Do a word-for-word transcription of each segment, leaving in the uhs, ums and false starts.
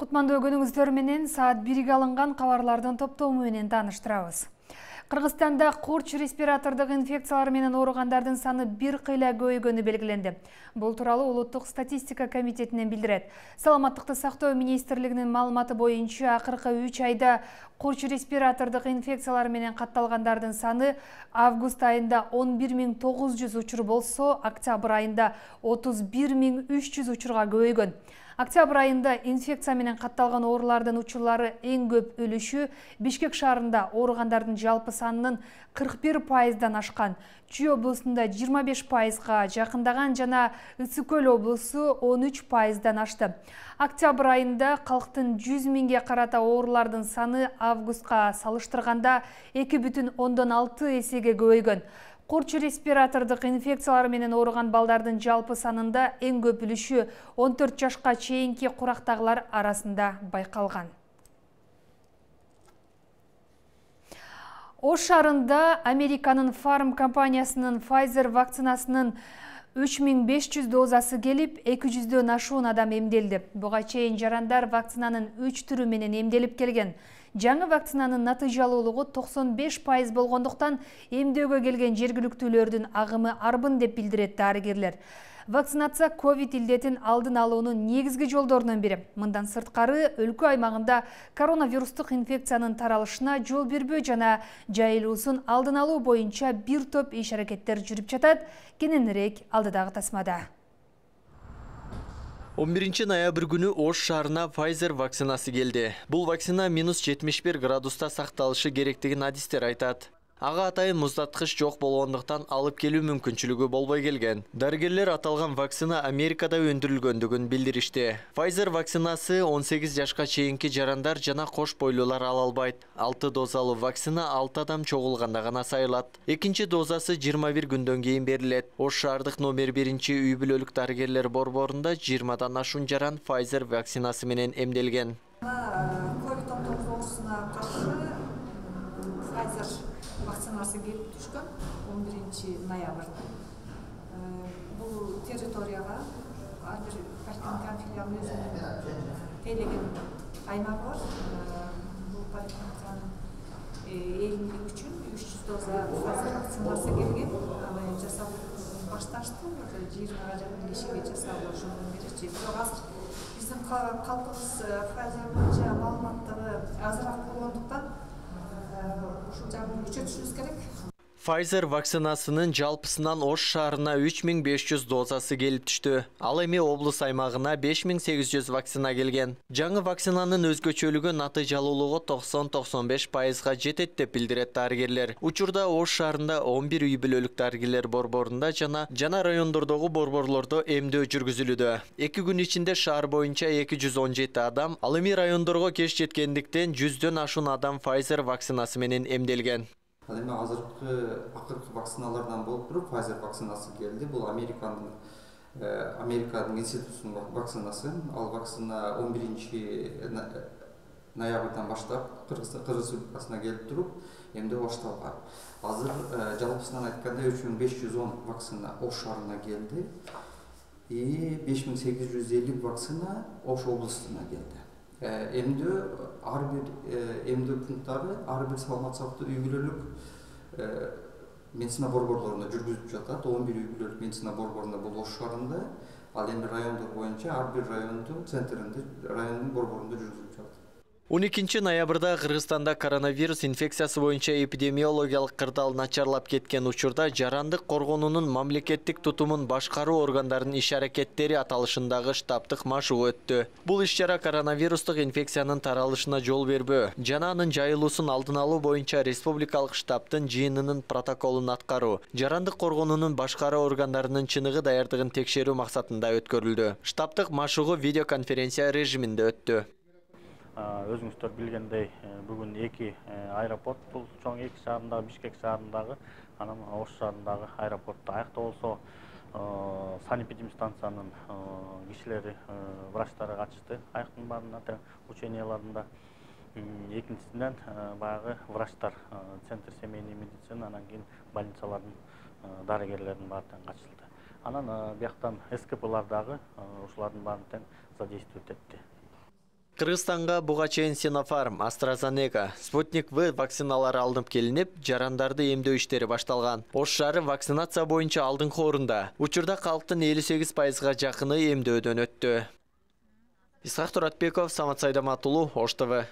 Кутмандуу күнүңүздөр менен саат бирге алынган кабарлардын топтому менен тааныштырабыз. Кыргызстанда курч респиратордук инфекциялар менен ооругандардын саны бир кыйла көбөйгөнү белгиленди. Бул тууралуу Улуттук статистика комитетинен билдирет. Саламаттыкты сактоо министрлигинин маалыматы боюнча акыркы үч айда курч респиратордук инфекциялар менен катталгандардын саны август айында он бир миң тогуз жүз учур болсо, октябрь айында отуз бир миң үч жүз учурга көбөйгөн. Октябрь айында инфекция менен катталган оорулардын учурлары эң көп өлүшү Бишкек шаарында ооругандардын жалпы санынын кырк бир пайыздан ашкан. Чүй облусунда жыйырма беш пайызга жакындаган жана Ысык Көл облусу он үч пайыздан ашты. Октябрь айында калктын жүз миңге карата оорулардын саны августка салыштырганда эки бүтүн ондон алты эсеге көбөйгөн. Курч респиратордук инфекциялар менен ооруган балдардын жалпы санында эң көп үлүшү он төрт жашка чейинки курактагылар арасында байкалган. Ош шаарында Американын Фарм компаниясынын Pfizer вакцинасынын үч миң беш жүз дозасы келип, эки жүздөн ашуун адам эмделди. Буга чейин жарандар вакцинанын үч түрү менен эмделип келген. Жаңы вакцинанын натыйжалуулугу токсон беш пайыз болгондуктан эмдөөгө келген жергиликтүүлөрдүн агымы арбын деп билдирет дарыгерлер. Вакцинация ковид илдетин алдын алуунун негизги жолдорунун бири. Мындан сырткары өлкө аймагында коронавирустук инфекциянын таралышына жол бербөө жана жайылуусун алдын алуу боюнча бир топ иш-аракеттер жүрүп жатат. Кененирээк алдыдагы тасмада. он биринчи ноябрь күнү Ош шаарына Pfizer вакцинасы келди. Бул вакцина минус жетимиш бир градуста сакталышы керектигин адистер айтат. Ага атайын муздаткыч жок болгондуктан алып келүү мүмкүнчүлүгү болбой келген. Дарыгерлер аталган вакцина Америкада өндүрүлгөндүгүн билдиришти. Pfizer вакцинасы он сегиз жашка чейинки жарандар жана кош бойлуулар ала албайт. алты дозалуу вакцина алты адам чогулганда гана сайылат. Экинчи дозасы жыйырма бир күндөн кийин берилет. Ош шаардык номер биринчи үй бүлөлүк дарыгерлер борборунда жыйырмадан ашуун жаран Pfizer вакцинасы менен эмделген. ковид он тогуз оорусуна каршы Pfizer вакцинасы келип түшкөн он биринчи ноябрда. Бул территорияга ар бир поликлиниканын филиалынын өзүнүн тейлеген аймагы бар. Бул поликлиниканын элүү үчүн үч жүз доза Pfizer вакцинасы келген. Аны жасап башташты. жыйырмага жакын кишиге жасалуу жөнүндө беричи. Бирок азыр биздин калкыбыз Pfizer боюнча маалыматтары азыраак болгондуктан ушул жагын күчөтүшүбүз керек. Pfizer вакцинасынын жалпысынан Ош шаарына үч миң беш жүз дозасы келип түштү. Ал эми облус аймагына беш миң сегиз жүз вакцина келген. Жаңы вакцинанын өзгөчөлүгү натыйжалуулугу токсон токсон беш пайызга жетет деп билдирет дарыгерлер. Учурда Ош шаарында он бир үй бүлөлүк дарыгерлер борборунда жана жана райондордогу борборлордо эмдөө жүргүзүлүүдө. эки күн ичинде шаар боюнча эки жүз он жети адам, ал эми райондорго кеч жеткендиктен жүздөн ашуун адам Pfizer вакцинасы менен эмделген. Ал эми азыркы акыркы вакциналардан болуп туруп Pfizer вакцинасы келди. Бул Американын Американын институтунун вакцинасы. Ал вакцина он биринчи ноябрдан баштап Кыргыз Республикасына келип туруп эмдөө башталган. Азыр жалпысынан айтканда үч миң беш жүз он вакцина Ош шаарына келди. И беш миң сегиз жүз элүү вакцина Ош облусуна келди. Эмдөө ар бир эмдөө пункттары ар бир саламат сактоо үй бүлөлүк медицина борборлорунда жүргүзүлүп жатат. он бир үй бүлөлүк медицина борборунда бул Ош шаарында, ал эми райондор боюнча ар бир райондун центринде, райондун борборунда жүргүзүлүп жатат. он экинчи ноябрда Кыргызстанда коронавирус инфекциясы боюнча эпидемиологиялык кырдаал начарлап кеткен учурда жарандык коргонуунун мамлекеттик тутумун башкаруу органдарынын иш-аракеттери аталышындагы штабтык машыгуу өттү. Бул иш-чара коронавирустук инфекциянын таралышына жол бербөө жана анын жайылуусун алдын алуу боюнча республикалык штабтын жыйынынын протоколун аткаруу, жарандык коргонуунун башкаруу органдарынын чыныгы даярдыгын текшерүү максатында өткөрүлдү. Штабтык машыгуу видеоконференция режиминде өттү. Өзүңүздөр билгендей, бүгүн эки аэропорт, бул чоң эки шаарындагы Бишкек шаарындагы, анан Ош шаарындагы аэропортто аяктоо болсо санэпидемстанциянын кишилери, врачтары катышты аяктын баарына тең ученияларында. Экинчисинен баягы врачтар, центр семейный медицина, анан кийин больницалардын дарыгерлердин баары тең катышылды. Анан бияктан эс ка пылар дагы ушулардын баарын тең задействовать этти. Кыргызстанга буга чейин Sinopharm, AstraZeneca, Sputnik V вакциналары алынып келинип, жарандарды эмдөө иштери башталган. Ош шаары вакцинация боюнча алдыңкы орунда. Учурда калктын элүү сегиз пайызга жакыны эмдөөдөн өттү. Исхак Туратбеков, Самат Сайдаматулу, Ош ТВ.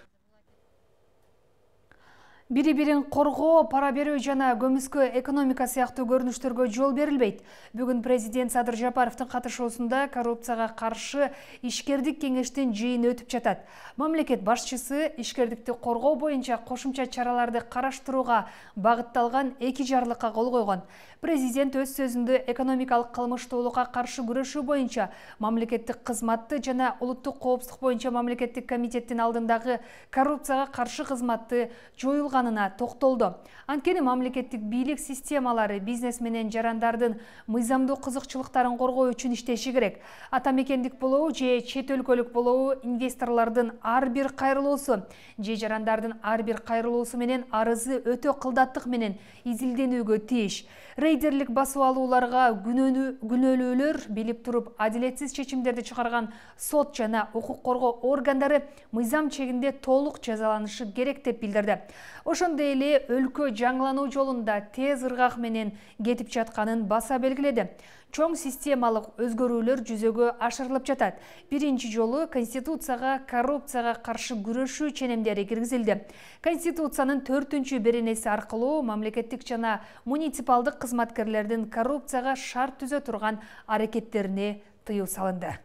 Бири-бирин коргоо, пара берүү жана көмүскө экономика сыяктуу көрүнүштөргө жол берилбейт. Бүгүн президент Садыр Жапаровдун катышуусунда коррупцияга каршы ишкердик кеңештин жыйыны өтүп жатат. Мамлекет башчысы ишкердикти коргоо боюнча кошумча чараларды караштырууга багытталган эки жарлыкка кол койгон. Президент өз сөзүндө экономикалык кылмыштуулукка каршы күрөшүү боюнча мамлекеттик кызматты жана улуттук коопсуздук боюнча мамлекеттик комитеттин алдындагы коррупцияга каршы кызматты жоюлганына токтолду. Анткени мамлекеттик бийлик системалары бизнес менен жарандардын мыйзамдуу кызыкчылыктарын коргоо үчүн иштеши керек. Ата мекендик болобу же чет өлкөлүк болобу индесторлордун ар бир кайрылуусу же жарандардын ар бир кайрылуусу менен арызы өтө кылдаттык менен изилденүүгө тийиш. Рейдерлик басып алууларга күнөөлүүлөр билип туруп адилетсиз чечимдерди чыгарган сот жана укук коргоо органдары мыйзам чегинде толук жазаланышы керек деп билдирди. Ошондой эле өлкө жаңылануу жолунда тез ыргак менен кетип жатканын баса белгиледи. Чоң системалык өзгөрүүлөр жүзөгө ашырылып жатат. Биринчи жолу Конституцияга коррупцияга каршы күрөшүү ченемдери киргизилди. Конституциянын төртүнчү беренеси аркылуу мамлекеттик жана муниципалдык кызматкерлердин коррупцияга шарт түзө турган аракеттерине тыюу салынды.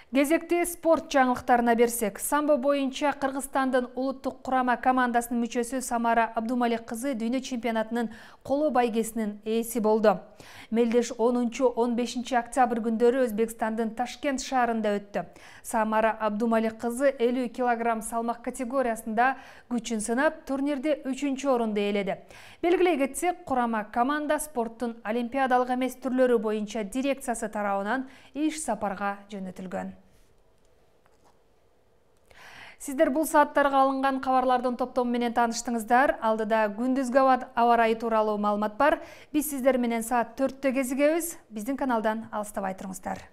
Кезекти спорт жаңылыктарына берсек, самбо боюнча Кыргызстандын улуттук курама командасынын мүчөсү Самара Абдумалик кызы дүйнө чемпионатынын коло байгесинин ээси болду. Мелдеш онунчу он бешинчи октябрь күндөрү Өзбекстандын Ташкент шаарында өттү. Самара Абдумалик кызы элүү килограмм салмак категориясында күчүн сынап, турнирде үчүнчү орунду ээледи. Белгилей кетсек, курама команда спорттун олимпиадалык эмес түрлөрү боюнча дирекциясы тарабынан иш сапарга жөнөтүлгөн. Сиздер бул сааттарга алынган кабарлардын топтому менен тааныштыңыздар. Алдыда күндүзгү аба ырайы тууралуу маалымат бар. Биз сиздер менен саат төрттө кезигебиз. Биздин каналдан алыстабай туруңуздар.